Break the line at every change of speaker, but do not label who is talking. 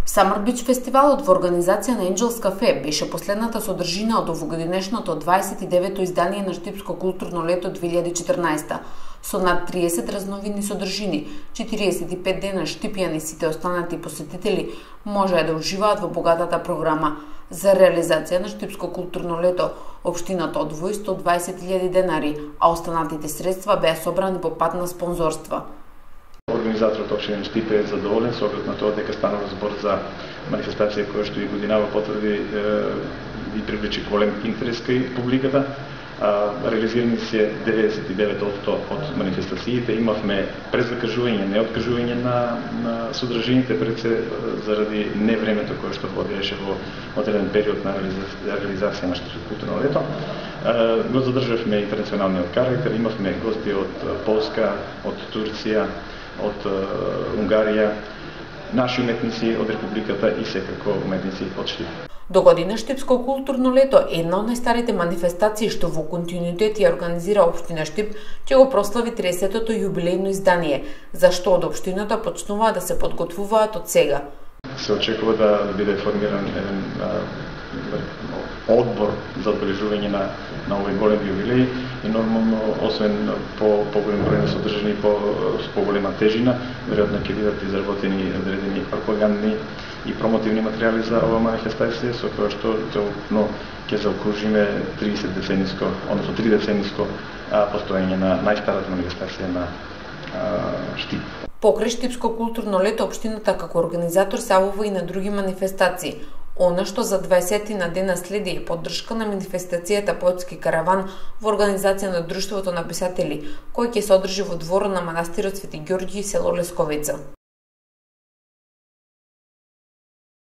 Summer Beach фестивалот во организација на Angels Cafe беше последната содржина од овогодинешното 29-то издание на Штипско културно лето 2014, со над 30 разновидни содржини, 45 дена Штипјани и сите останати посетители можеа да уживаат во богатата програма. За реализација на Штипско културно лето, општината одвои 120.000 денари, а останатите средства беа собрани по пат на спонзорства.
Организаторот општина Штип е задоволен со оглед на тоа дека станува збор за манифестација која што и годинава потврди и привлече голем интерес кај публиката. Реализирани се 99% од манифестациите. Имавме презакажување, неоткажување на содржините пред се заради невремето кое што водеше во одреден период на реализација на Штипско културно лето. Го задржавме интернационалниот карактер, имавме гости од Полска, од Турција, од Унгарија, наши уметници од Републиката и секако уметници од Штип.
До година Штипско културно лето е една од најстарите манифестации што во континуитет ја организира општина Штип, ќе го прослави 30-тото јубилејно издание, за што од општината почнуваат да се подготвуваат од сега.
Се очекува да биде формиран еден одбор за одбележување на овој голем јубилеј и нормално, освен поголем број на содржини со поголема тежина, веројатно ќе бидат изработени одредени пропагандни и промотивни материјали за ова манифестација, со која што целокупно ќе заокружиме 30 децениско, односно 3 децениско постоење на најстарата манифестација на Штип.
Покрај Штипско културно лето, општината како организатор се јавува и на други манифестации. Она што за 20 на дена следи е поддршка на манифестацијата Поетски караван во организација на Друштвото на писатели, кој ќе се одржи во дворот на манастирот Свети Ѓорѓи, село Лесковица.